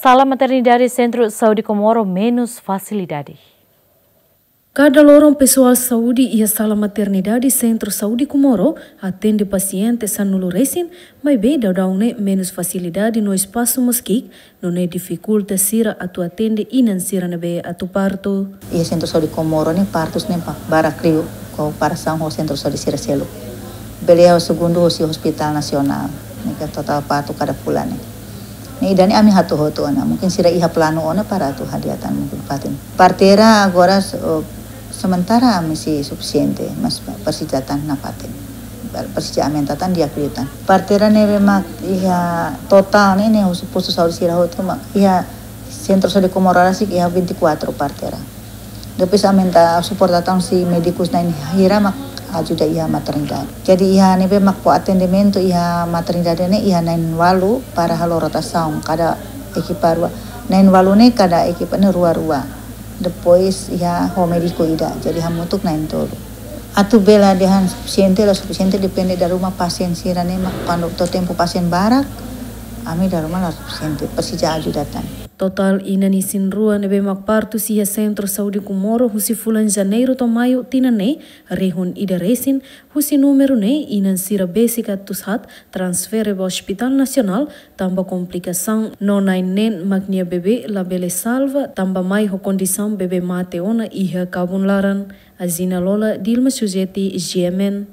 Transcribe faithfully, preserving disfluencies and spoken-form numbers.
Sala maternidade Sentru Saúde Comoro menus fasilidade. Kada loron pesoál saúde iha sala maternidade Sentru Saúde Comoro atende pasiente sanulu resin, maibé daudaun ne'e menus fasilidade no espasu mós ki'ik, nune'e difikulta sira atu atende inan sira ne'ebé atu partu. Iha Sentru Saúde Comoro ne'e partus ne'e ba-, barak liu komparasaun ho sentru saúde sira seluk. Bele iha segundu husi Hospital Nasionál, ne'e ke totál partu kada fulan ne'e. Ne'e ida-ne'e ami hato'o hotu ona. Mungkin sira iha planu ona para atu hadi'a tan mungkin fatin. Parteira agora, eh, sementara ami sei sufisiente, mas presiza tan nafatin. Presiza aumenta tan di'ak liután. Parteira ne'ebé mak iha totál ne'e, ne'e husi postu saúde sira hotu mak iha Sentru Saúde Comoro rasik iha vinte e quatro parteira. Depois aumenta suporta tan husi médikus na'in hira mak ajuda iha maternidade. Jadi iha ne'ebé mak fó atendimentu iha maternidade ne'e iha na'in ualu para halo rotasaun kada ekipa rua. Na'in ualu ne'e kada ekipa ne'e rua-rua. Depois iha ho médiku ida. Jadi hamutuk na'in tolu. Atu bele dehan sufisiente la sufisiente depende dari ruma pasien sira ne'e mak kuandu to'o tempu pasien barak, ami dala ruma la sufisiente, presiza ajuda tan. Totál inan isin-rua ne'ebé mak partus iha Sentru Saúde Comoro husi fulan Janeiru to'o Maiu tinan ne'e rihun ida resin, husi númeru ne'e inan sira besik atus haat transfere ba Hospital Nasionál tanba komplikasaun no na'in neen mak nia bebé labele salva tanba mai ho kondisaun bebé mate ona iha kabun laran. Azina Lola, Dilma Sujeti, G M N.